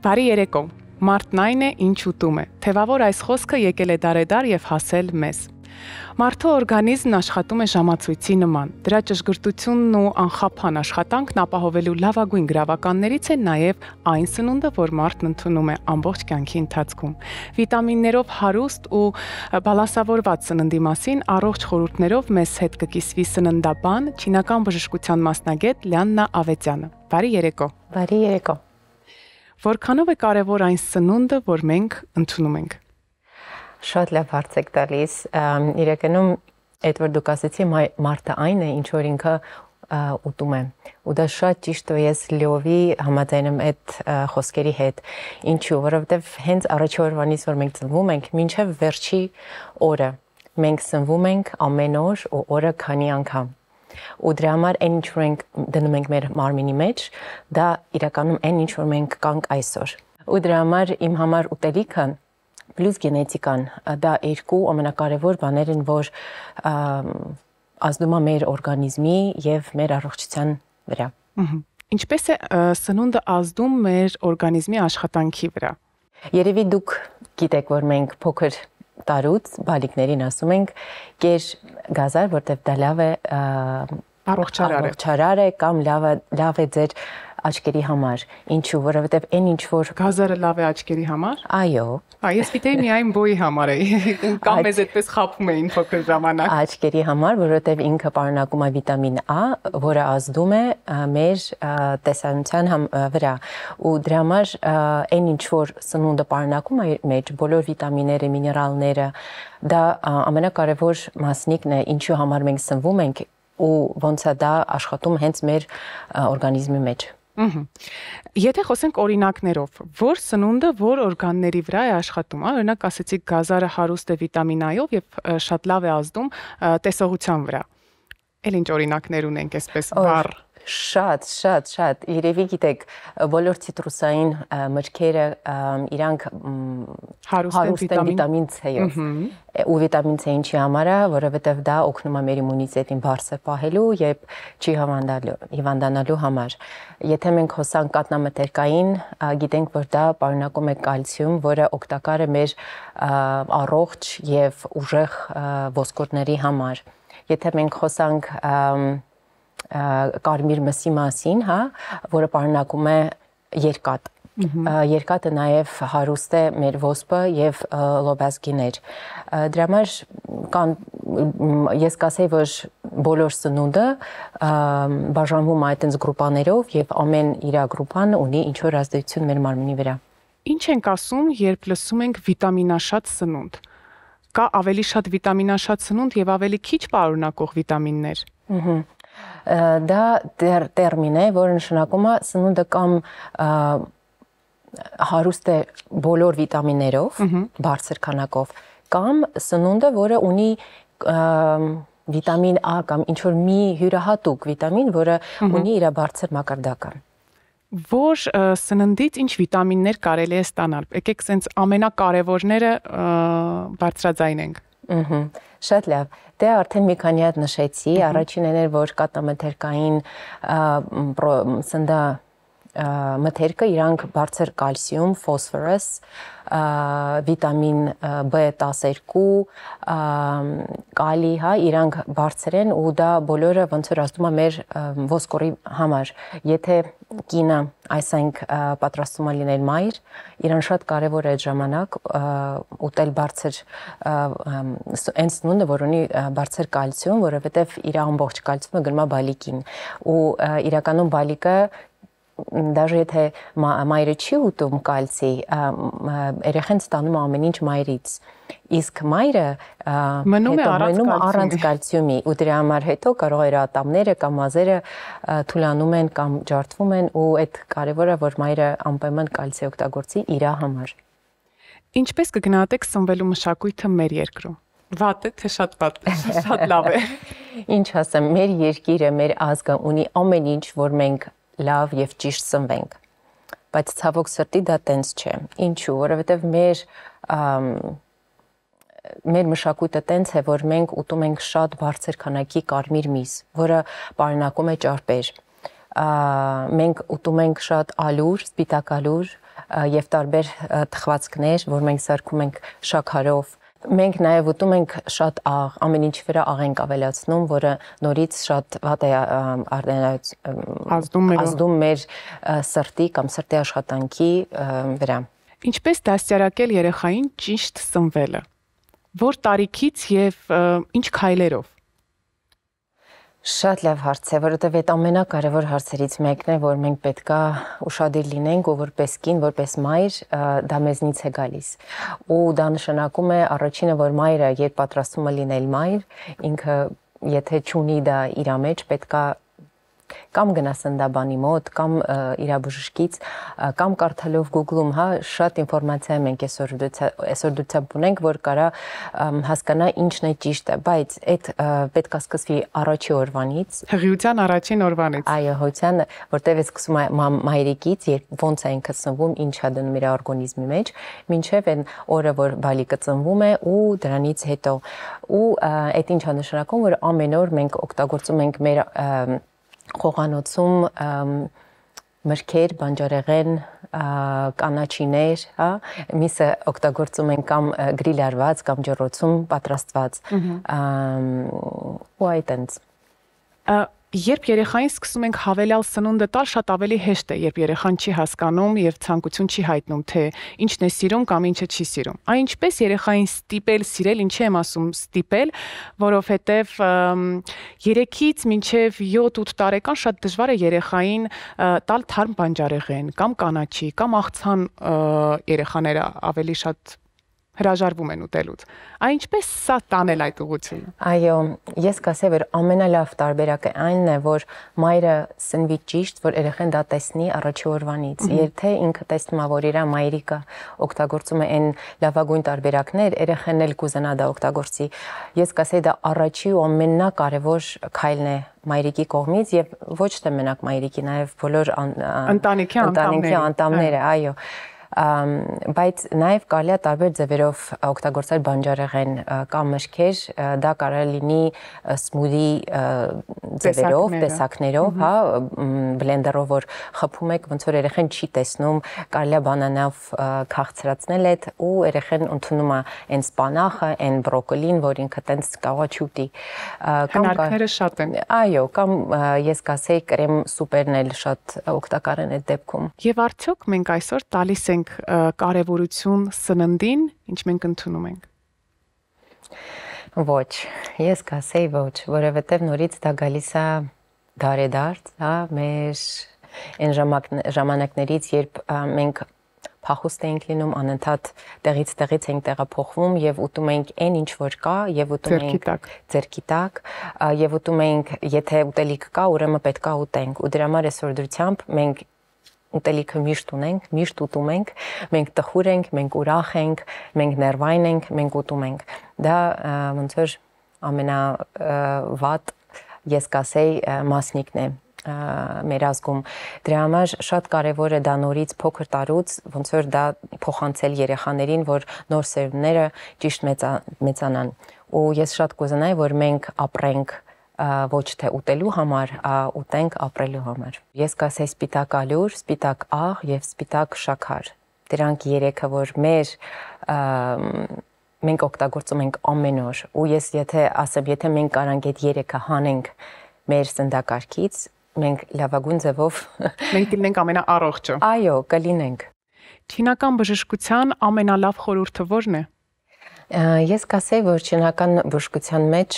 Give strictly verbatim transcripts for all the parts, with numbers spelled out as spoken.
Բարի երեկո, մարդն այն է, ինչ ուտում է, թևավոր այս խոսքը եկել է դարեդար և հասել մեզ։ Մարդու օրգանիզմն աշխատում է ժամացույցի նման, դրա ճշգրտությունն ու անխափան աշխատանքն ապահովելու լավագույն գրավականներից է նաև այն սնունդը, որ մարդն ընդունում է ամբողջ կյանքի ընթացքում։ Վիտամիններով հարուստ ու բալանսավորված սննդի մասին առողջ խորհուրդներով մեզ հետ կկիսվի սննդաբան, չինական բժշկության մասնագետ Լիաննա Ավետյանը։ Բարի երեկո։ Բարի երեկո։ Որքանով է կարևոր այն սնունդը, որ մենք ընդունում ենք։ Շատ լավ հարց եք տալիս։ Իրականում այդ որ դուք ասեցի մարդը այն է, ինչ որ ինքը ուտում է։ Ու դա շատ ճիշտ է, ես լիովի համաձայն եմ այդ խոսքերի հետ։ Ինչու, որովհետև հենց առաջի օրվանից որ մենք ծնվում ենք, մինչև վերջի օրը մենք սնվում ենք ամեն օր ու օրը քանի անգամ։ Ու դրա համար այն ինչ որ մենք դնում ենք մեր մարմինի մեջ, դա իրականում այն ինչ որ մենք կանք այսօր։ Ու դրա համար իմ համար ուտելիքը պլյուս գենետիկան, դա երկու ամենակարևոր բաներ են, որ ազդում է մեր օրգանիզմի եւ մեր առողջության վրա։ Ինչպես է սնունդը ազդում մեր օրգանիզմի աշխատանքի վրա։ Երևի դուք գիտեք, որ մենք փոքր տարուց բալիկներին ասում ենք կեր գազար, որտեղ դա լավ է առողջարար է կամ լավ է լավ է ձեր աչքերի համար։ Ինչու, որովհետև այն ինչ որ գազարը լավ է աչքերի համար։ Այո։ Այս գիտեի միայն բոյի համար է։ Կամ մեզ այդպես խաբում էին փոքր ժամանակ։ Աչքերի համար, որովհետև ինքը պարունակում է վիտամին A, որը ազդում է մեր տեսանության վրա։ Ու դրա համար այն ինչ որ սնունդը պարունակում է մեջ, բոլոր վիտամինները, միներալները, դա ամենակարևոր մասնիկն է, ինչու համար մենք սնվում ենք ու ոնց է դա աշխատում հենց մեր օրգանիզմի մեջ։ Եթե խոսենք օրինակներով, որ սնունդը որ օրգանների վրա է աշխատում, օրինակ ասեցիք գազարը հարուստ է վիտամին A-ով եւ շատ լավ է ազդում տեսողության վրա։ Էլ ինչ օրինակներ ունենք այսպես վառ։ Շատ, շատ, շատ։ Երևի գիտեք, բոլոր ցիտրուսային մրգերը իրանք հարուստ են վիտամին C-ով։ Ու վիտամին C ինչի համար է, որովհետև դա օգնում է մեր իմունիտետին բարձր պահելու եւ չի հիվանդանալու համար։ Եթե մենք խոսանք կաթնամթերքային, գիտենք, որ դա պարունակում է կալցիում, որը օգտակար է մեր առողջ եւ ուժեղ ոսկորների համար։ Եթե մենք խոսանք կարմիր մսի մասին, հա, որը պարունակում է երկաթ։ Երկաթը նաև հարուստ է մեր ոսպը եւ լոբազգիներ։ Դրա համար կան ես կասեի, որ բոլոր սնունդը բաժանվում է այդպես գրուպաներով եւ ամեն իր գրուպան ունի ինչ որ ազդեցություն մեր մարմնի վրա։ Ինչ ենք ասում, երբ լսում ենք վիտամինաշատ սնունդ։ Կա ավելի շատ վիտամինաշատ սնունդ եւ ավելի քիչ պարունակող վիտամիններ։ Դա տերմին է, որը նշանակում է սնունդը կամ հարուստ է բոլոր վիտամիններով, բարձր քանակով, կամ սնունդը, որը ունի վիտամին A կամ ինչ որ մի յուրահատուկ վիտամին, որը ունի իր բարձր մակարդակը։ Որ սննդից ինչ վիտամիններ կարելի է ստանալ։ Եկեք սենց ամենակարևորները բարձրաձայնենք։ Շատ լավ։ Դե արդեն մի քանի հատ նշեցի, առաջինն էր, որ կաթնամթերքային սննդա մթերքը իրանք բարձր կալցիում, ֆոսֆորս, վիտամին B տասներկու, կալի, հա, իրանք բարձր են ու դա բոլորը ոնց որ ազդում է մեր ոսկորի համար։ Եթե կինը այսինք պատրաստում է լինել մայր, իրան շատ կարևոր է այդ ժամանակ ուտել բարձր այն սնունդը, որ ունի բարձր կալցիում, որովհետև իր ամբողջ կալցիումը գնում է բալիկին։ Ու իրականում բալիկը Даже եթե մայրը չի ուտում կալցի, երեխան ստանում ամեն ինչ մայրից։ Իսկ մայրը մնում է առանց կալցիումի, ու դրա համար հետո կարող է ատամները կամ մազերը թուլանում են կամ ջարդվում են, ու այդ կարևորը որ մայրը անպայման կալցի օգտագործի իր համար։ Ինչպես կգնահատեք սնվելու մշակույթը մեր երկրում։ Վատ է, թե շատ վատ է, շատ լավ է։ Ինչ ասեմ, մեր երկիրը, մեր ազգը ունի ամեն ինչ, որ մենք լավ եւ ճիշտ սնվենք, բայց ցավոք սրտի դա տենց չէ։ Ինչու, որովհետեւ մեր մեր մշակույթը տենց է, որ մենք ուտում ենք շատ բարձր քանակի կարմիր միս, որը պարունակում է ճարպեր։ Մենք ուտում ենք շատ ալուր, սպիտակ ալուր, եւ տարբեր թխվածքներ, որ մենք սարքում ենք շաքարով։ Մենք նաև ուտում ենք շատ աղ, ամեն ինչ վրա աղ ենք ավելացնում, որը նորից շատ վատ է ազդում մեր ազդում մեր սրտի կամ սրտի աշխատանքի վրա։ Ինչպես դաստիարակել երեխային ճիշտ սնվելը։ Որ տարիքից եւ ինչ քայլերով։ Շատ լավ հարց է, որովհետև այդ ամենակարևոր հարցերից մեկն է, որ մենք պետքա ուշադիր լինենք ու որպես կին, որպես մայր դա մեզնից է գալիս։ Ու դա նշանակում է առաջինը, որ մայրը երբ պատրաստվում է լինել մայր, ինքը եթե չունի դա իր մեջ, պետքա կամ գնա սննդաբանի մոտ, կամ իր բժշկից, կամ կարդալով Google-ում, հա, շատ ինֆորմացիա մենք այսօր այսօր դուք ունենք, որ կարա հասկանա ինչն է ճիշտը, բայց այդ պետք է սկսվի առաջի օրվանից, հղիության առաջին օրվանից։ Այո, հղիության, որտեղ է սկսում մայրիկից, երբ ոնց է ինքը ծնվում, ինչ է դնում իր օրգանիզմի մեջ, մինչև այն օրը, որ բալիկը ծնվում է ու դրանից հետո։ Ու այդ ինչ է նշանակում, որ ամեն օր մենք օգտագործում ենք մեր խոհանոցում մրգեր, բանջարեղեն, կանաչիներ, հա, միսը օգտագործում են կամ գրիլարված, կամ ջեռոցում պատրաստված։ Ու այդտենց։ Երբ երեխային սկսում ենք հավելյալ սնունդը տալ, շատ ավելի հեշտ է, երբ երեխան չի հասկանում եւ ցանկություն չի հայտնում, թե ինչն է սիրում կամ ինչը չի սիրում։ Այն ինչպես երեխային ստիպել սիրել, ինչի եմ ասում ստիպել, որովհետեւ երեքից մինչեւ յոթ-ութ տարեկան շատ դժվար է երեխային տալ թարմ բանջարեղեն կամ կանաչի կամ աղցան երեխաները ավելի շատ հրաժարվում են ուտելուց։ Այն ինչպես սա տանել այդ ուղղությունը։ Այո, ես կասեի, որ ամենալավ տարբերակը այնն է, որ մայրը սնվի ճիշտ, որ երեխան դա տեսնի առաջի օրվանից։ Եթե ինքը տեսնում է, որ իր մայրիկը օգտագործում է այն լավագույն տարբերակներ, երեխան էլ կուզենա դա օգտագործի։ Ես կասեի, դա առաջի ու ամենակարևոր քայլն է մայրիկի կողմից եւ ոչ թե մենակ մայրիկի, նաեւ բոլոր ընտանիքի անդամները, այո։ Բայց նաև կարելի է տարբեր ձևերով օգտագործել բանջարեղեն կամ մրգեր, դա կարող է լինի սմուդի ձևերով, տեսակներով, հա, բլենդերով որ խփում եք, ոնց որ երեխան չի տեսնում, կարելի է բանանով քաղցրացնել այդ ու երեխան ընդունում է այն սպանախը, այն բրոկոլին, որ ինքը տենց կարող է չուտի։ Հնարքները շատ են։ Այո, կամ ես կասեի կրեմ սուպերն էլ շատ օգտակար են այդ դեպքում։ Եվ արդյոք մենք այսօր տալիս ենք կարևորություն սննդին, ինչ մենք ընդունում ենք։ Ոչ, ես կասեի ոչ, որովհետև նորից դա գալիս է դարեդարձ, հա, մեր այն ժամանակներից, երբ մենք փախուստ էինք լինում, անընդհատ տեղից տեղից ենք տեղափոխվում եւ ուտում ենք այն ինչ որ կա եւ ուտում ենք ձերքի տակ եւ ուտում ենք, եթե ուտելիք կա, ուրեմն պետք է ուտենք։ Ու դրա համար այսօր դրությամբ մենք ուտելիքը միշտ ունենք, միշտ ուտում ենք, մենք տխուր ենք, մենք ուրախ ենք, մենք ներվային ենք, մենք ուտում ենք։ Դա ոնց որ ամենավատ ես կասեի մասնիկն է մեր ազգում։ Դրա համար շատ կարևոր է դա նորից փոքր տարուց, ոնց որ դա փոխանցել երեխաներին, որ նոր սերունդները ճիշտ մեծանան։ Ու ես շատ կուզենայի, որ մենք ապրենք ոչ թե ուտելու համար, ուտենք ապրելու համար։ Ես կասեի սպիտակ ալյուր, սպիտակ աղ եւ սպիտակ շաքար։ Դրանք երեքը, որ մեր մենք օգտագործում ենք ամեն օր։ Ու ես եթե ասեմ, եթե մենք կարանք այդ երեքը հանենք մեր սննդակարգից, մենք լավագույն ձևով մենք կլինենք ամենաառողջը։ Այո, կլինենք։ Չինական բժշկության ամենալավ խորհուրդը ո՞րն է։ Ես կասեի, որ չինական բժշկության մեջ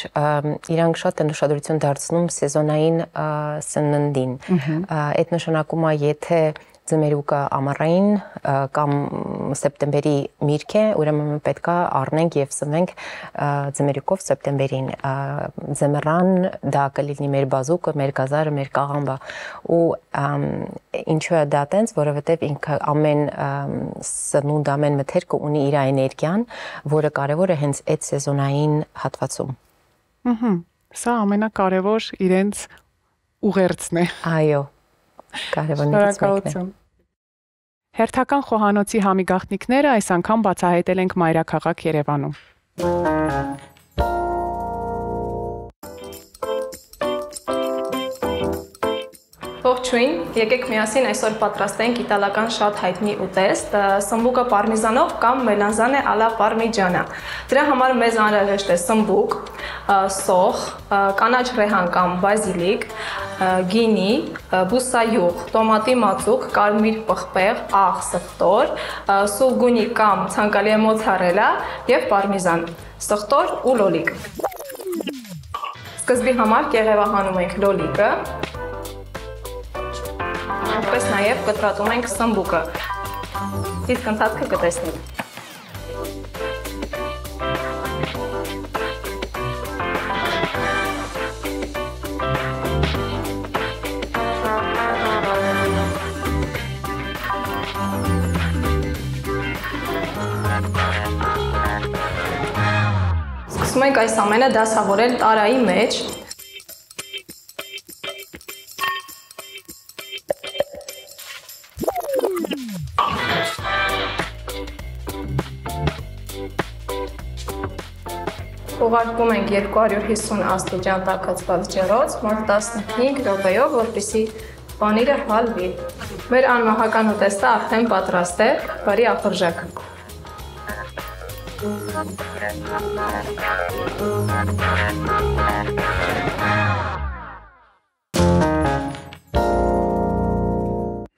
իրանք շատ են ուշադրություն դարձնում սեզոնային սննդին։ Այդ նշանակում է, եթե ձմերուկը ամառային կամ սեպտեմբերի միրգ է, ուրեմն պետք է առնենք եւ սնվենք ձմերուկով սեպտեմբերին։ Ձմռան դա կլինի մեր բազուկը, մեր գազարը, մեր կաղամբը։ Ու ինչու է դա տենց, որովհետեւ ինքը ամեն սնունդ, ամեն մթերքը ունի իր էներգիան, որը կարևոր է հենց այդ սեզոնային հատվածում։ Ահա, սա ամենակարևոր իրենց ուղերձն է։ Այո։ Կարևորներից մեկն է։ Հերթական խոհանոցի համիգաղտնիքները այս անգամ բացահայտել ենք մայրաքաղաք Երևանում։ Ողջույն, եկեք միասին այսօր պատրաստենք իտալական շատ հայտնի ուտեստ, սմբուկը պարմիզանով կամ մելանզանե ալա պարմիջանա։ Դրա համար մեզ անհրաժեշտ է սմբուկ, սոխ, կանաչ ռեհան կամ բազիլիկ, գինի, բուսայուղ, տոմատի մածուկ, կարմիր պղպեղ, աղ, սխտոր, սուլգունի կամ ցանկալի է մոցարելա եւ պարմիզան, սխտոր ու լոլիկ։ Սկզբի համար կեղևահանում ենք լոլիկը, ինչպես նաև կտրատում ենք սմբուկը։ Իսկ ընթացքը կտեսնենք։ Սկսում ենք այս ամենը դասավորել տարայի մեջ։ Ուղարկում ենք երկու հարյուր հիսուն աստիճան տաքացված ջրով, մոտ տասնհինգ րոպեով, որպեսզի պանիրը հալվի։ Մեր անմահական ուտեստը արդեն պատրաստ է, բարի ախորժակ։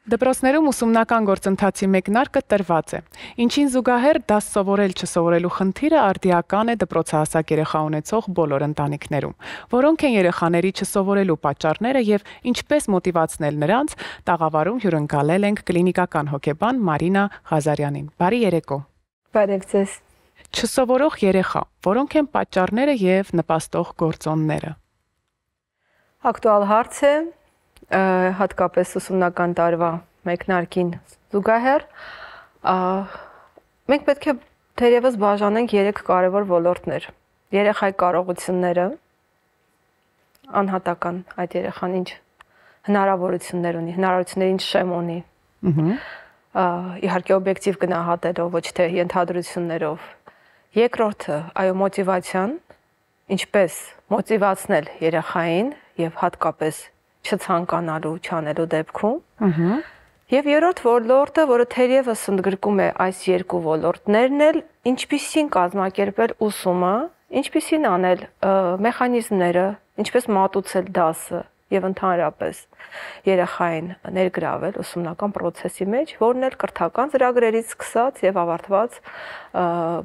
Դպրոցներում ուսումնական գործընթացի մեկնարկը տրված է։ Ինչին զուգահեռ դաս սովորել չսովորելու խնդիրը արդիական է դպրոցահասակ երեխա ունեցող բոլոր ընտանիքներում։ Որոնք են երեխաների չսովորելու պատճառները եւ ինչպես մոտիվացնել նրանց, տաղավարում հյուրընկալել ենք կլինիկական հոգեբան Մարինա Ղազարյանին։ Բարի երեկո։ Բարև ձեզ։ Չսովորող երեխա, որոնք են պատճառները եւ նպաստող գործոնները։ Ակտուալ հարց է, հատկապես ուսումնական տարվա մեկնարկին զուգահեռ, մենք պետք է թերևս բաժանենք երեք կարևոր ոլորտներ։ Երեխայի կարողությունները, անհատական այդ երեխան ինչ հնարավորություններ ունի, հնարավորություններ ինչ շեմ ունի, իհարկե օբյեկտիվ գնահատելով, ոչ թե ենթադրություններով։ Երկրորդը, այո, մոտիվացիան, ինչպես մոտիվացնել երեխային եւ հատկապես չցանկանալու, չանելու դեպքում։ Եվ երրորդ ոլորտը, որը թերևս ընդգրկում է այս երկու ոլորտներն էլ, ինչպիսին կազմակերպել ուսումը, ինչպիսին անել մեխանիզմները, ինչպես մատուցել դասը եւ ընդհանրապես երեխային ներգրավել ուսումնական process-ի մեջ, որն էլ կրթական ծրագրերից սկսած եւ ավարտված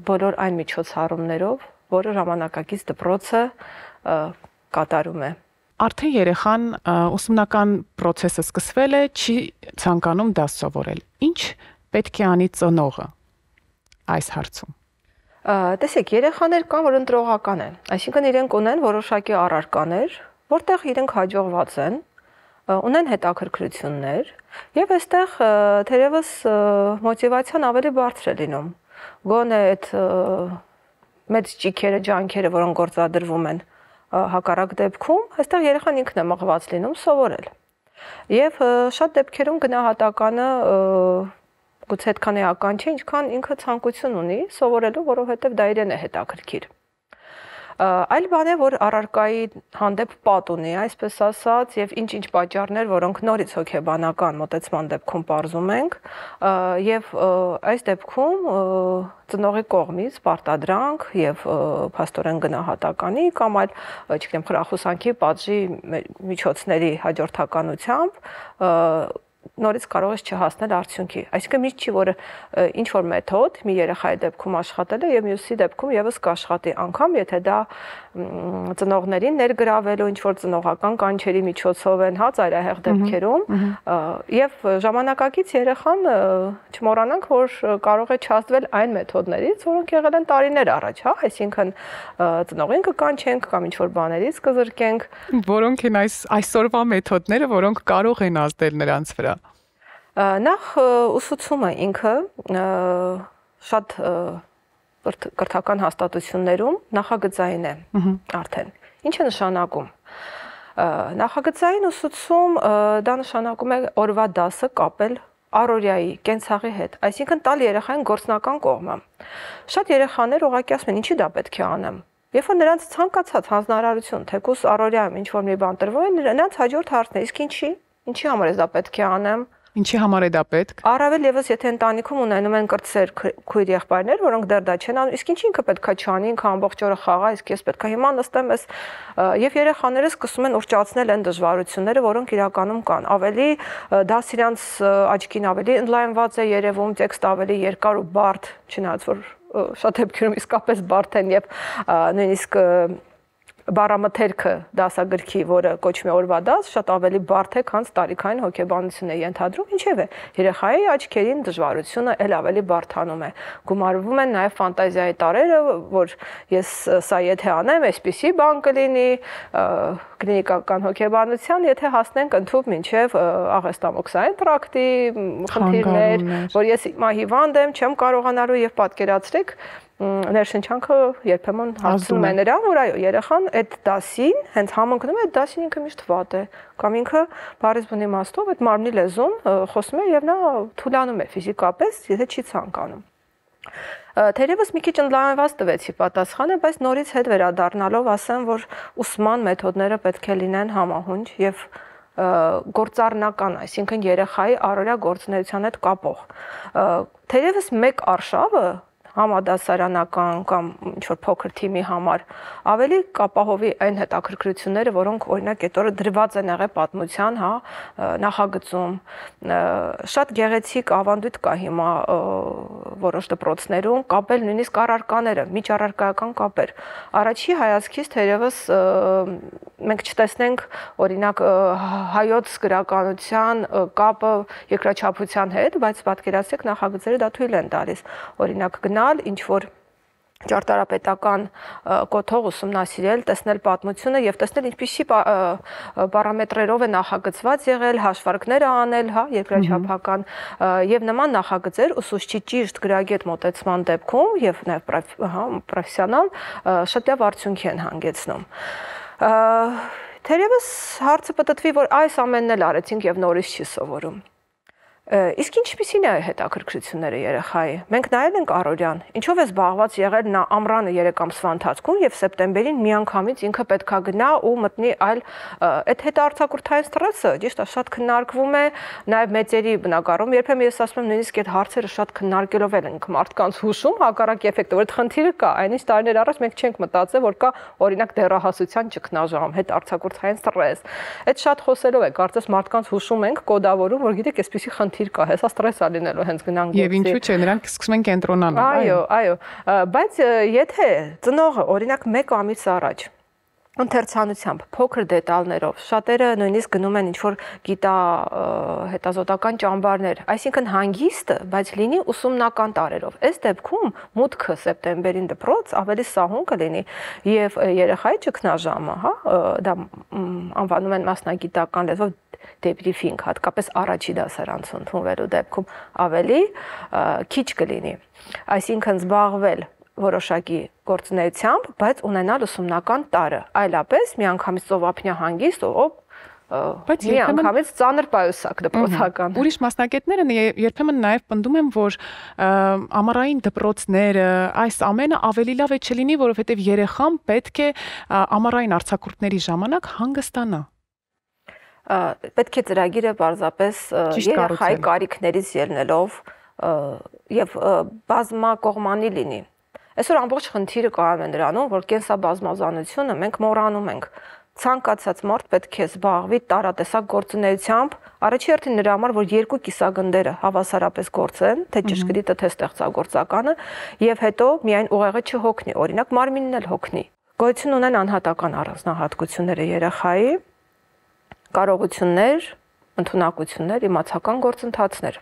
բոլոր այն միջոցառումներով, որը ժամանակակից դպրոցը կատարում է։ Արդեն երեխան ուսումնական process-ը սկսվել է, չի ցանկանում դաս սովորել։ Ինչ պետք է անի ծնողը այս հարցում։ Տեսեք, երեխաներ կան, որ ընտրողական են, այսինքն իրենք ունեն որոշակի առարկաներ, որտեղ իրենք հաջողված են, ունեն հետաքրքրություններ, եւ այստեղ թերևս մոտիվացիան ավելի բարձր է լինում։ Գոնե այդ մեծ ճիքերը, ջանքերը, որոնք գործադրվում են հակառակ դեպքում, այստեղ երեխան ինքն է մղված լինում սովորել։ Եվ շատ դեպքերում գնահատականը գուցե այդքան էական չէ, ինչքան ինքը ցանկություն ունի սովորելու, որովհետև դա իրեն է հետաքրքիր։ Այլ բան է, որ առարկայի հանդեպ պատ ունի, այսպես ասած, եւ ինչ-ինչ պատճառներ, որոնք նորից հոգեբանական մոտեցման դեպքում պարզում ենք, եւ այս դեպքում ծնողի կողմից պարտադրանք եւ փաստորեն գնահատականի կամ այլ, չգիտեմ, խրախուսանքի պատժի միջոցների հաջորդականությամբ նորից կարող ես չհասնել արդյունքի։ Այսինքն միշտ չի, որ ինչ որ մեթոդ մի երեխայի դեպքում աշխատել է եւ մյուսի դեպքում եւս կաշխատի, անգամ եթե դա ծնողներին ներգրավելու ինչ որ ծնողական կանչերի միջոցով են, հա, ծայրահեղ դեպքերում, եւ ժամանակակից երեխան չմոռանանք, որ կարող է չհասվել այն մեթոդներից, որոնք եղել են տարիներ առաջ, հա, այսինքն ծնողին կկանչենք կամ ինչ որ բաներից կզրկենք, որոնք են այս այսօրվա մեթոդները, որոնք կարող են ազդել նրանց վրա։ Նախ ուսուցումը ինքը շատ կրթական հաստատություններում նախագծային է արդեն։ Ինչ է նշանակում։ Նախագծային ուսուցում դա նշանակում է օրվա դասը կապել առօրյայի, կենցաղի հետ, այսինքն տալ երեխային գործնական կողմը։ Շատ երեխաներ ուղղակի ասում են, ինչի դա պետք է անեմ։ Երբ որ նրանց ցանկացած հանձնարարություն, թեկուզ առօրյայում ինչ որ մի բան տրվում է, նրանց հաջորդ հարցն է, իսկ ինչի։ Ինչի համար է դա պետք է անեմ։ Ինչի համար է դա պետք։ Առավել եւս եթե ընտանիքում ունենում են կրտսեր քույր եղբայրներ, որոնք դեռ դա չեն անում, իսկ ինչի ինքը պետքա չանի, ինքը ամբողջ օրը խաղա, իսկ ես պետքա հիմա նստեմ ես եւ երեխաները սկսում են ուռճացնել այն դժվարությունները, որոնք իրականում կան։ Ավելի դա իրանց աչքին ավելի ընդլայնված է երևում, տեքստը ավելի երկար ու բարդ, չնայած որ շատ դեպքերում իսկապես բարդ են եւ նույնիսկ բառամթերքը դասագրքի, որը կոչվում է օրվա դաս, շատ ավելի բարդ է, քան տարիքային հոգեբանություն է ենթադրում, ինչևէ, երեխայի աչքերին դժվարությունը էլ ավելի բարդանում է։ Գումարվում են նաև ֆանտազիայի տարրերը, որ ես սա եթե անեմ, այսպիսի բան կլինի, կլինիկական հոգեբանության, եթե հասնենք ընդհանուր մինչև աղեստամոքսային տրակտի խնդիրներ, որ ես հիմա հիվանդ եմ, չեմ կարողանալու եւ պատկերացրեք ներշնչանքը երբեմն հարցնում է նրան, որ այո, երեխան այդ դասին հենց համընկնում է, այդ դասին ինքը միշտ վատ է, կամ ինքը բառից բնի իմաստով այդ մարմնի լեզուն խոսում է եւ նա թուլանում է ֆիզիկապես, եթե չի ցանկանում։ Թերևս մի քիչ ընդլայնված տվեցի պատասխանը, բայց նորից հետ վերադառնալով ասեմ, որ ուսման մեթոդները պետք է լինեն համահունչ եւ գործառնական, այսինքն երեխայի առօրյա գործունեության հետ կապող։ Թերևս մեկ արշավը համադասարանական կամ ինչ-որ փոքր թիմի համար ավելի կապահովի այն հետաքրքրությունները, որոնք օրինակ այդ օրը դրված են եղել պատմության, հա, նախագծում։ Շատ գեղեցիկ ավանդույթ կա հիմա որոշ դպրոցներում կապել նույնիսկ առարկաները, միջառարկայական կապեր։ Առաջի հայացքից թերևս մենք չտեսնենք օրինակ հայոց գրականության կապը երկրաչափության հետ, բայց պատկերացրեք նախագծերը դա թույլ են տալիս։ Օրինակ գնալ ինչ որ ճարտարապետական կոթող ուսումնասիրել, տեսնել պատմությունը եւ տեսնել ինչպիսի պարամետրերով է նախագծված եղել, հաշվարկները անել, հա, երկրաչափական եւ նման նախագծեր ուսուցչի ճիշտ գրագետ մոտեցման դեպքում եւ նաեւ հա պրոֆեսիոնալ շատ լավ արդյունքի են հանգեցնում։ Թերևս հարցը պատտվի, որ այս ամենն էլ արեցինք եւ նորից չի սովորում։ Իսկ ինչպիսին է հետաքրքրությունները երեխայի։ Մենք նայել ենք առօրյան, ինչով է զբաղված եղել նա ամռանը երեք ամսվա ընթացքում եւ սեպտեմբերին միանգամից ինքը պետքա գնա ու մտնի այլ այդ հետարտակուրթային ստրեսը, ճիշտ է, շատ քննարկվում է նաեւ մեծերի բնակարում, երբեմն ես ասում եմ նույնիսկ այդ հարցերը շատ քննարկելով են ենք մարդկանց հուշում հակառակ էֆեկտը, որ այդ խնդիրը կա, այնից տարիներ առաջ մենք չենք մտածել, որ կա օրինակ դեռահասության ճգնաժամ, հետարտակուրթային ստրես։ Այդ շատ խոսելով է, կարծես մարդկանց հուշում ենք, կոդավորում, որ գիտեք, այսպիսի խնդիր կա, հեսա ստրես է լինելու հենց գնանք գործի։ Եվ ինչու՞ չէ, նրանք սկսում են կենտրոնանալ։ Այո, այո, բայց եթե ծնողը օրինակ մեկ ամիս առաջ ընթերցանությամբ, փոքր դետալներով, շատերը նույնիսկ գնում են ինչ-որ գիտա հետազոտական ճամբարներ, այսինքն հանգիստը, բայց լինի ուսումնական տարերով։ Այս դեպքում մուտքը սեպտեմբերին դպրոց ավելի սահուն կլինի եւ երեխայի ճգնաժամը, հա, դա անվանում են մասնագիտական լեզվով debriefing, հատկապես առաջի դասարանցում ընդունվելու դեպքում ավելի քիչ կլինի։ Այսինքն զբաղվել որոշակի գործունեությամբ, բայց ունենալ ուսումնական տարը, այլապես միանգամից ծովափնյա հանգիստ, ով բայց միանգամից ծանր պայուսակ դպրոցական։ Ուրիշ մասնագետները երբեմն նաև պնդում են, որ ամառային դպրոցները, այս ամենը ավելի լավ է չլինի, որովհետև երեխան պետք է ամառային արձակուրդների ժամանակ հանգստանա։ Պետք է ծրագիրը պարզապես երեխայի կարիքներից ելնելով եւ բազմակողմանի լինի։ Այսօր ամբողջ խնդիրը կայանում է նրանում, որ կենսաբազմազանությունը մենք մոռանում ենք։ Ցանկացած մարդ պետք է զբաղվի տարատեսակ գործունեությամբ, առաջի հերթին նրա համար, որ երկու կիսագնդերը հավասարապես գործեն, թե ճշգրիտը, թե ստեղծագործականը, եւ հետո միայն ուղեղը չհոգնի, օրինակ մարմինն էլ հոգնի։ Գոյություն ունեն անհատական առանձնահատկությունները երեխայի, կարողություններ, ընդունակություններ, իմացական գործընթացներ։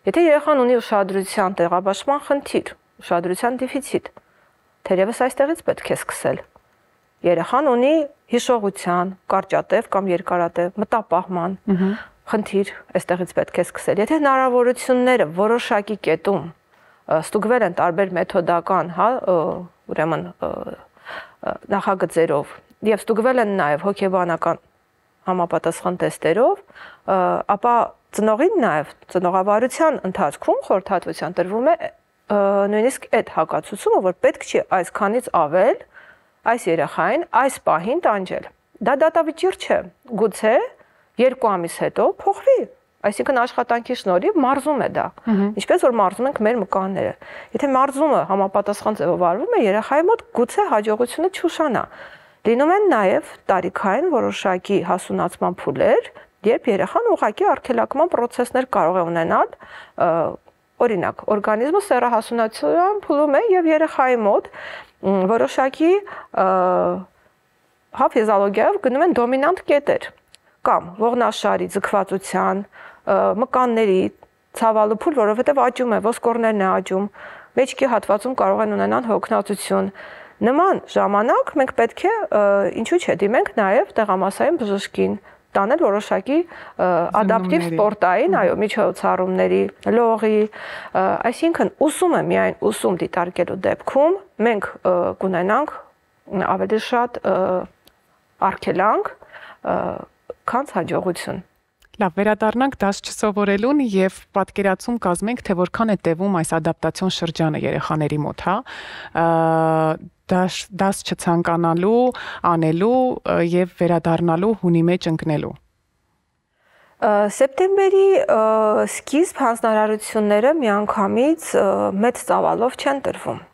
Եթե երեխան ունի ուշադրության տեղաբաշխման խնդիր, ուշադրության դեֆիցիտ, թերևս այստեղից պետք է սկսել։ Երեխան ունի հիշողության, կարճատև կամ երկարատև մտապահման խնդիր, այստեղից պետք է սկսել։ Եթե հնարավորությունները որոշակի կետում ստուգվել են տարբեր մեթոդական, հա, ուրեմն նախագծերով եւ ստուգվել են նաեւ հոգեբանական համապատասխան տեստերով, ապա ծնողին նաև ծնողավարության ընթացքում խորհրդատվության տրվում է նույնիսկ այդ հակացուցումը, որ պետք չի այսքանից ավել այս երեխային այս պահին տանջել։ Դա դատավճիռ չէ, գուցե երկու ամիս հետո փոխվի։ Այսինքն աշխատանքի շնորհիվ մարզում է դա։ Ինչպես որ մարզում ենք մեր մկանները։ Եթե մարզումը համապատասխան ձևով արվում է, երեխայի մոտ գուցե հաջողությունը չուշանա։ Լինում են նաև տարիքային որոշակի հասունացման փուլեր, երբ երեխան ուղղակի արգելակման process-ներ կարող է ունենալ, օրինակ, օրգանիզմը սեռահասունացման փուլում է եւ երեխայի մոտ որոշակի հա ֆիզիոլոգիայով գնում են դոմինանտ կետեր կամ ողնաշարի, ձգվածության, մկանների ցավալու փուլ, որովհետև աճում է, ոսկորներն է աճում, մեջքի հատվածում կարող են ունենալ հոգնածություն։ Նման ժամանակ մենք պետք է ինչու՞ չէ դիմենք նաև տեղամասային բժշկին, տանել որոշակի ադապտիվ սպորտային, այո, միջոցառումների, լողի, այսինքն ուսումը միայն ուսում դիտարկելու դեպքում մենք կունենանք ավելի շատ արգելանք, քան հաջողություն։ Լավ, վերադառնանք դաս չսովորելուն եւ պատկերացում կազմենք, թե որքան է տևում այս ադապտացիոն շրջանը երեխաների մոտ, հա։ Դաս դաս չցանկանալու, անելու եւ վերադառնալու հունի մեջ ընկնելու։ Սեպտեմբերի սկիզբ հանձնարարությունները միանգամից մեծ ծավալով չեն տրվում։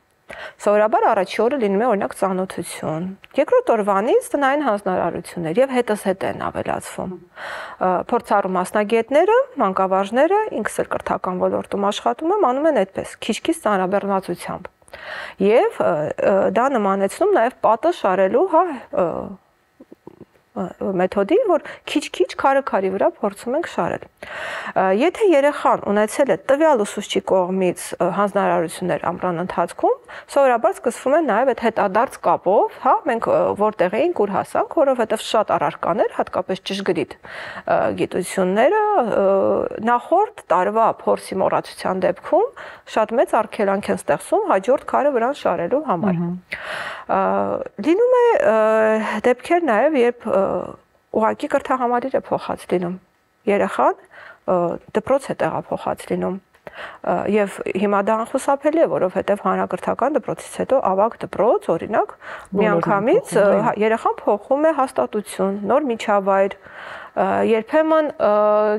Սովորաբար առաջի օրը լինում է օրինակ ծանոթություն, երկրորդ օրվանից տնային հանձնարարություններ եւ հետս հետ են ավելացվում։ Փորձառու մասնագետները, մանկավարժները, ինքս էլ կրթական ոլորտում աշխատում եմ, անում են այդպես, քիչ-քիչ ծանրաբեռնվածությամբ։ Եվ դա նմանեցնում նաեւ պատը շարելու, հա, մեթոդի, որ քիչ-քիչ քարը-քարի վրա փորձում ենք շարել։ Եթե երեխան ունեցել է տվյալ ուսուցչի կողմից հանձնարարություններ ամռան ընթացքում, սովորաբար սկսվում է նաև այդ հետադարձ կապով, հա, մենք որտեղ էինք, ուր հասանք, որովհետև շատ առարկաներ, հատկապես ճշգրիտ գիտությունները նախորդ տարվա փորձի մոռացության դեպքում շատ մեծ արգելանք են ստեղծում հաջորդ քարը վրան շարելու համար։ Լինում է դեպքեր նաև, երբ ուղղակի կրթահամարիր է փոխած լինում, երեխան դպրոց է տեղափոխած լինում եւ հիմա դա անխուսափելի է, որովհետեւ հանրակրթական դպրոցից հետո ավագ դպրոց, օրինակ, միանգամից երեխան փոխում է հաստատություն, նոր միջավայր, երբեմն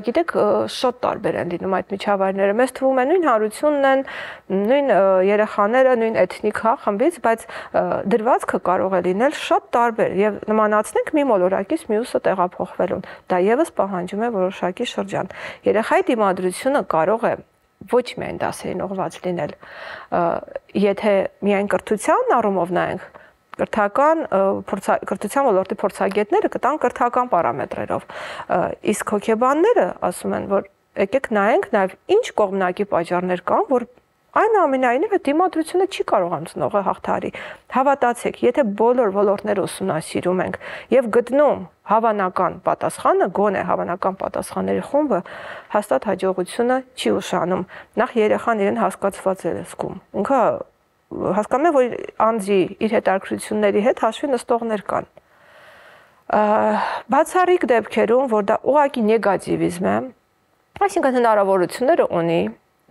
գիտեք շատ տարբեր են լինում այդ միջավայրները, մեզ թվում է նույն հարությունն են, նույն երեխաները, նույն էթնիկ հա խմբից, բայց դրվածքը կարող է լինել շատ տարբեր եւ նմանացնենք մի մոլորակից մյուսը տեղափոխվելուն։ Դա եւս պահանջում է որոշակի շրջան։ Երեխայի դիմադրությունը կարող է ոչ միայն դասերին ուղղված լինել, եթե միայն կրթության առումով նայենք, կրթական կրթության ոլորտի փորձագետները կտան կրթական պարամետրերով, իսկ հոգեբանները ասում են, որ եկեք նայենք նաև ինչ կողմնակի պատճառներ կան, որ այնուամենայնիվ այդ դիմադրությունը չի կարողանում ծնողը հաղթահարի։ Հավատացեք, եթե բոլոր ոլորտները ուսումնասիրում ենք եւ գտնում հավանական պատասխանը, գոնե հավանական պատասխանների խումբը, հաստատ հաջողությունը չի ուշանում։ Նախ երեխան իրեն հասկացված է զգում։ Ինքը հասկանում է, որ անձի իր հետաքրքրությունների հետ հաշվի նստողներ կան։ Բացառիկ դեպքերում, որ դա ուղղակի նեգատիվիզմ է, այսինքն հնարավորությունները ունի,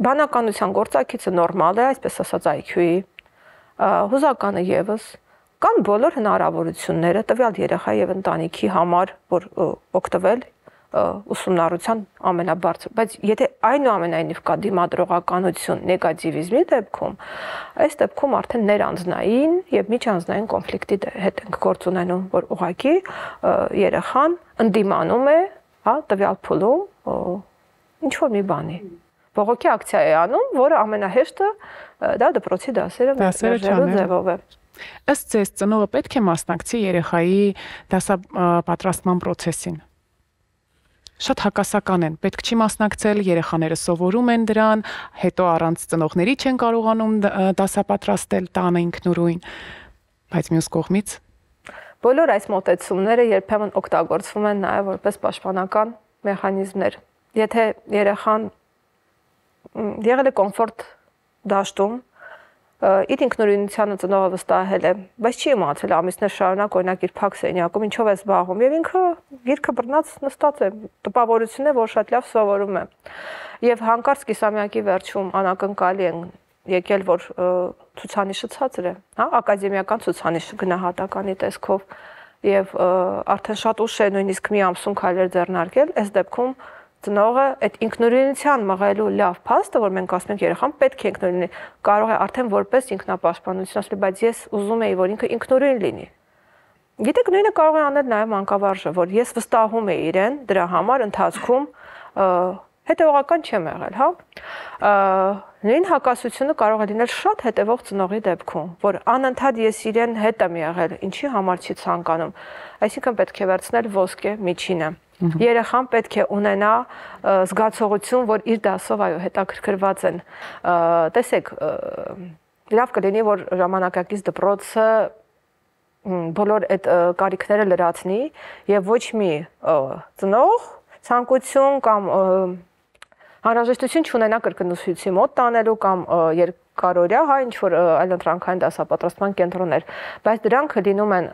բանականության գործակիցը նորմալ է, այսպես ասած այ քյու-ի, հուզականը եւս, կան բոլոր հնարավորությունները տվյալ երեխայի եւ ընտանիքի համար, որ օգտվել ուսումնառության ամենաբարձր, բայց եթե այնուամենայնիվ կա դիմադրողականություն նեգատիվիզմի դեպքում, այս դեպքում արդեն ներանձնային եւ միջանձնային կոնֆլիկտի հետ ենք գործ ունենում, որ ուղղակի երեխան ընդդիմանում է, հա, տվյալ փուլում ինչ որ մի բանի։ Բողոքի ակցիա է անում, որը ամենահեշտը դա դպրոցի դասերը մերժելու ձևով է։ Ըստ ձեզ ծնողը պետք է մասնակցի երեխայի դասապատրաստման process-ին։ Շատ հակասական են, պետք չի մասնակցել, երեխաները սովորում են դրան, հետո առանց ծնողների չեն կարողանում դասապատրաստել տանը ինքնուրույն, բայց մյուս կողմից բոլոր այս մոտեցումները երբեմն օգտագործվում են նաև որպես պաշտպանական մեխանիզմներ։ Եթե երեխան եղել է կոմֆորտ դաշտում, իր ինքնուրույնությանը ծնողը վստահել է, բայց չի իմացել ամիսներ շարունակ օրինակ իր փակ սենյակում ինչով է զբաղվում եւ ինքը գիրքը բռնած նստած է, տպավորություն է, որ շատ լավ սովորում է։ Եվ հանկարծ կիսամյակի վերջում անակնկալի են եկել, որ ցուցանիշը ցածր է, հա, ակադեմիական ցուցանիշը գնահատականի տեսքով։ եւ արդեն շատ ուշ է նույնիսկ մի ամսում քայլեր ձեռնարկել, այս դեպքում ծնողը այդ ինքնուրույնության մղելու լավ փաստը, որ մենք ասում ենք երեխան պետք է ինքնուրույն լինի, կարող է արդեն որպես ինքնապաշտպանություն ասել, բայց ես ուզում եի, որ ինքը ինքնուրույն լինի։ Գիտեք, նույնը կարող է անել նաև մանկավարժը, որ ես վստահում եմ իրեն դրա համար ընթացքում հետևողական չեմ եղել, հա։ Նույն հակասությունը կարող է լինել շատ հետևող ծնողի դեպքում, որ անընդհատ ես իրեն հետ եմ եղել, ինչի համար չի ցանկանում։ Այսինքն պետք է վերցնել ոսկե միջինը։ Երեխան պետք է ունենա զգացողություն, որ իր դասով այո հետաքրքրված են։ Տեսեք, լավ կլինի, որ ժամանակակից դպրոցը բոլոր այդ կարիքները լրացնի եւ ոչ մի ծնող ցանկություն կամ անհրաժեշտություն չունենա կրկնուսույցի մոտ տանելու կամ երկարօրյա, հա, ինչ որ այլընտրանքային դասապատրաստման կենտրոններ, բայց դրանք լինում են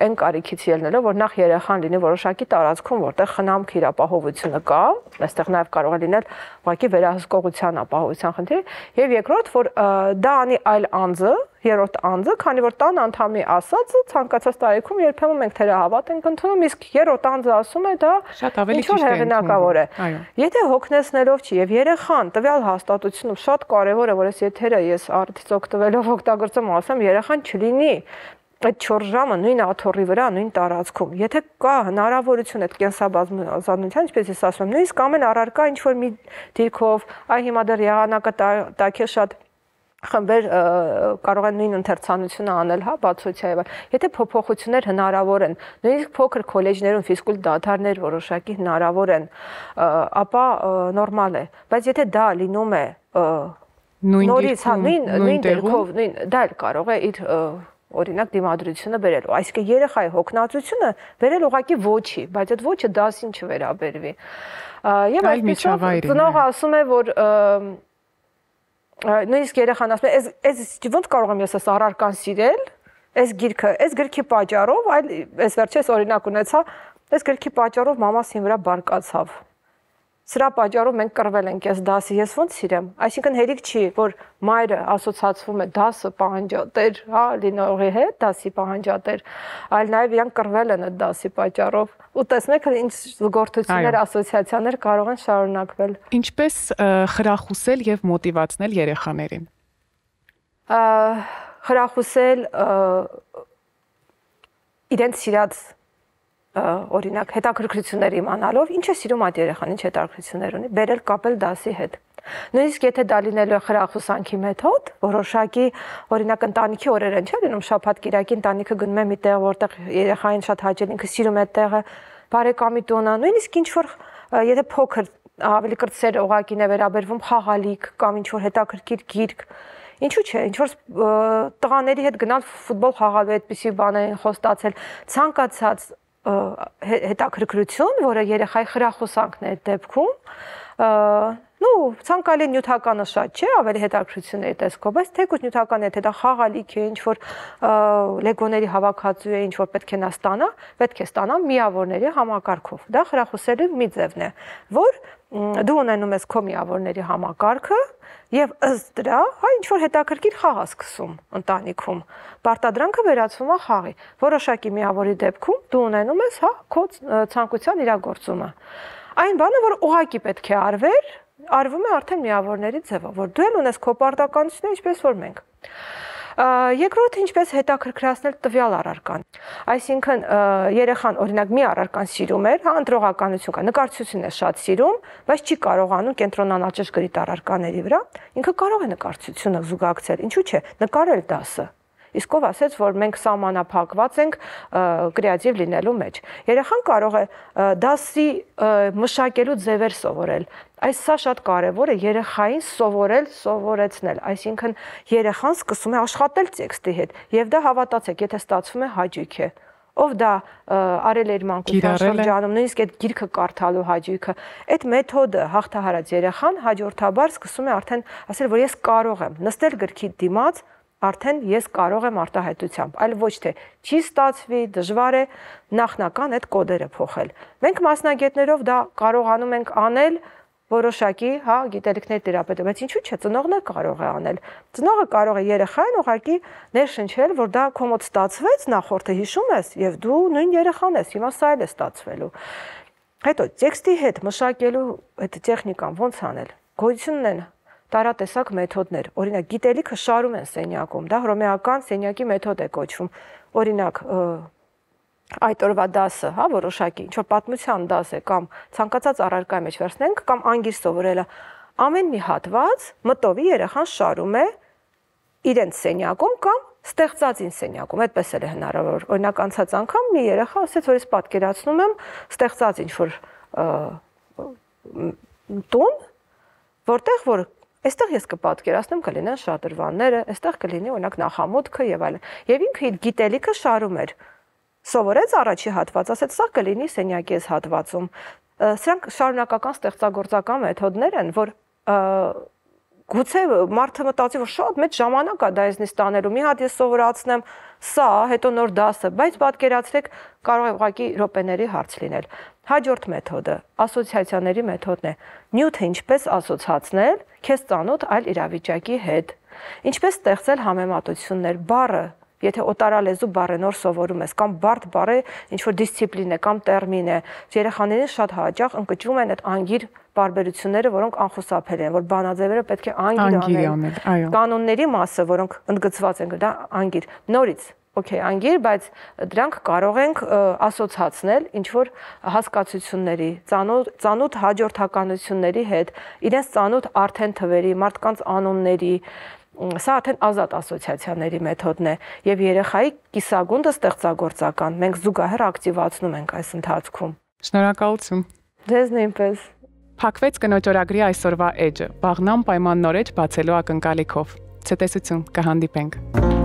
այն կարիքից ելնելով, որ նախ երեխան լինի որոշակի տարածքում, որտեղ խնամք իր ապահովությունը կա, այստեղ նաև կարող է լինել ուղղակի վերահսկողության ապահովության խնդիր, եւ երկրորդ, որ դա անի այլ անձը, երրորդ անձը, քանի որ տան անդամի ասածը ցանկացած տարիքում երբեմն մենք թերահավատ ենք ընդունում, իսկ երրորդ անձը ասում է դա շատ ավելի ճիշտ է հեղինակավոր է։ Եթե հոգնեցնելով չի եւ երեխան տվյալ հաստատությունում շատ կարեւոր է, որ այս եթերը ես արդյոք տվելով օգտագործեմ, ասեմ, երեխան չլինի այդ չորս ժամը նույն աթոռի վրա, նույն տարածքում։ Եթե կա հնարավորություն այդ կենսաբազմազանության, ինչպես ես ասում եմ, նույնիսկ ամեն առարկա ինչ որ մի դիրքով, այ հիմա դեռ եղանակը տակ է շատ խմբեր կարող են նույն ընթերցանությունը անել, հա, բացօթյա։ Եթե փոփոխություններ հնարավոր են, նույնիսկ փոքր քոլեջներում ֆիզկուլ դադարներ որոշակի հնարավոր են, ապա նորմալ է։ Բայց եթե դա լինում է նորից, հա, նույն դերքով, նույն դա էլ կարող է իր օրինակ դիմադրությունը բերելու։ Այսինքն երեխայի հոգնածությունը բերել ուղղակի ոչի, բայց այդ ոչը դասին չվերաբերվի։ Եվ այսպեսով ծնողը ասում է, որ նույնիսկ երեխան ասում է, «Ես ոնց կարող եմ ես այս առարկան սիրել, այս գիրքը, այս գրքի պատճառով, այլ այս վերջերս օրինակ ունեցա, այս գրքի պատճառով մամաս ինձ վրա բարկացավ։ Սրա պատճառով մենք կռվել ենք այս դասի, ես ոնց սիրեմ»։ Այսինքն հերիք չի, որ մայրը ասոցացվում է դասը պահանջատեր, հա, լինողի հետ, դասի պահանջատեր, այլ նաև իրանք կռվել են այդ դասի պատճառով։ Ու տեսնեք ինչ զգորթություններ, ասոցիացիաներ կարող են շարունակվել։ Ինչպես խրախուսել եւ մոտիվացնել երեխաներին։ Խրախուսել իրենց սիրած օրինակ հետաքրքրություններ իմանալով, ինչ է սիրում այդ երեխան, ինչ հետաքրքրություններ ունի, բերել կապել դասի հետ։ Նույնիսկ եթե դա լինելու է խրախուսանքի մեթոդ, որոշակի օրինակ ընտանիքի օրեր են, չէ՞ լինում շաբաթ-կիրակի ընտանիքը գնում է մի տեղ, որտեղ երեխային շատ հաճել, ինքը սիրում է այդ տեղը, բարեկամի տունը, նույնիսկ ինչ որ եթե փոքր ավելի կրտսեր ուղղակին է վերաբերվում խաղալիք կամ ինչ որ հետաքրքիր գիրք, ինչու՞ չէ, ինչ որ տղաների հետ գնալ ֆուտբոլ խաղալու այդպիսի բաներին խոստացել, ցանկացած հետաքրքրություն, որը երեխայի խրախուսանքն է այդ դեպքում, նու ցանկալի նյութականը շատ չէ, ավելի հետաքրքրությունների տեսքով, բայց թեկուզ նյութական է, թե դա խաղալիք է, ինչ որ լեգոների հավաքածու է, ինչ որ պետք է նա ստանա, պետք է ստանա միավորների համակարգով։ Դա խրախուսելու մի ձևն է, որ դու ունենում ես քո միավորների համակարգը եւ ըստ դրա, հա, ինչ որ հետաքրքիր խաղ է սկսում ընտանիքում։ Պարտադրանքը վերածվում է խաղի։ Որոշակի միավորի դեպքում դու ունենում ես, հա, քո ցանկության իրագործումը։ Այն բանը, որ ուղղակի պետք է արվեր, արվում է արդեն միավորների ձևով, որ դու էլ ունես քո պարտականությունը, ինչպես որ մենք։ Երկրորդը ինչպես հետաքրքրացնել տվյալ առարկան։ Այսինքն երեխան օրինակ մի առարկան սիրում էր, հա, ընտրողականություն կա, նկարչությունն է շատ սիրում, բայց չի կարողանում կենտրոնանալ ճշգրիտ առարկաների վրա, ինքը կարող է նկարչությունը զուգակցել, ինչու՞ չէ, նկարել դասը։ Իսկ ով ասեց, որ մենք սահմանափակված ենք կրեատիվ լինելու մեջ։ Երեխան կարող է դասի մշակելու ձևեր սովորել։ Այս սա շատ կարևոր է երեխային սովորել, սովորեցնել, այսինքն երեխան սկսում է աշխատել տեքստի հետ, եւ դա հավատացեք, եթե ստացվում է հաճույք է։ Ով դա արել էր մանկության շրջանում, նույնիսկ այդ գիրքը կարդալու հաճույքը, այդ մեթոդը հաղթահարած երեխան հաջորդաբար սկսում է արդեն ասել, որ ես կարող եմ նստել գրքի դիմաց, արդեն ես կարող եմ արտահայտությամբ, այլ ոչ թե չի ստացվի, դժվար է նախնական այդ կոդերը փոխել։ Մենք մասնագետներով դա կարողանում ենք անել որոշակի, հա, գիտելիքներ տիրապետում, բայց ինչու՞ չէ, ծնողն էլ կարող է անել։ Ծնողը կարող է երեխային ուղղակի ներշնչել, որ դա քո մոտ ստացվեց, նախորդը հիշում ես, եւ դու նույն երեխան ես, հիմա սա էլ է ստացվելու։ Հետո տեքստի հետ մշակելու այդ տեխնիկան ոնց անել։ Գոյություն ունեն տարատեսակ մեթոդներ։ Օրինակ, գիտելիքը շարում են սենյակում, դա հռոմեական սենյակի մեթոդ է կոչվում։ Օրինակ, այդ օրվա դասը, հա, որոշակի, ինչ որ պատմության դաս է կամ ցանկացած առարկայի մեջ վերցնենք կամ անգիր սովորելը, ամեն մի հատված մտովի երեխան շարում է իրենց սենյակում կամ ստեղծածին սենյակում, այդպես էլ է հնարավոր։ Օրինակ անցած անգամ մի երեխա ասեց, որ ես պատկերացնում եմ ստեղծած ինչ որ տուն, որտեղ որ այստեղ ես կպատկերացնեմ կլինեն շատրվանները, այստեղ կլինի օրինակ նախամուտքը եւ այլն։ Եվ ինքը իր գիտելիքը շարում էր։ Սովորեց առաջի հատված, ասեց սա կլինի սենյակի այս հատվածում։ Սրանք շարունակական ստեղծագործական մեթոդներ են, որ գուցե մարդը մտածի, որ շատ մեծ ժամանակ է դա ինձնից տանելու, մի հատ ես սովորացնեմ սա, հետո նոր դասը, բայց պատկերացրեք կարող է ուղղակի րոպեների հարց լինել։ Հաջորդ մեթոդը ասոցիացիաների մեթոդն է։ Նյութը ինչպես ասոցացնել քեզ ծանոթ այլ իրավիճակի հետ։ Ինչպես ստեղծել համեմատություններ, բառը Եթե օտարալեզու բառը նոր սովորում ես կամ բարդ բառը ինչ որ դիսցիպլին է կամ տերմին է, երեխաներին շատ հաճախ ընկճվում են այդ անգիր բարբերությունները, որոնք անխուսափելի են, որ բանաձևերը պետք է անգիր անել։ Կանոնների մասը, որոնք ընդգծված են, դա անգիր։ Նորից, օքեյ, անգիր, բայց դրանք կարող ենք ասոցացնել ինչ որ հասկացությունների, ծանոթ ծանոթ հաջորդականությունների հետ, իրենց ծանոթ արդեն թվերի, մարդկանց անունների Սա արդեն ազատ ասոցիացիաների մեթոդն է եւ երեխայի կիսագունդը ստեղծագործական մենք զուգահեռ ակտիվացնում ենք այս ընթացքում։ Շնորհակալություն։ Ձեզ նույնպես։ Փակվեց կնոջ օրագրի այսօրվա էջը։ Վաղնամ պայմաննորեջ բացելու ակնկալիքով։ Ցտեսություն, կհանդիպենք։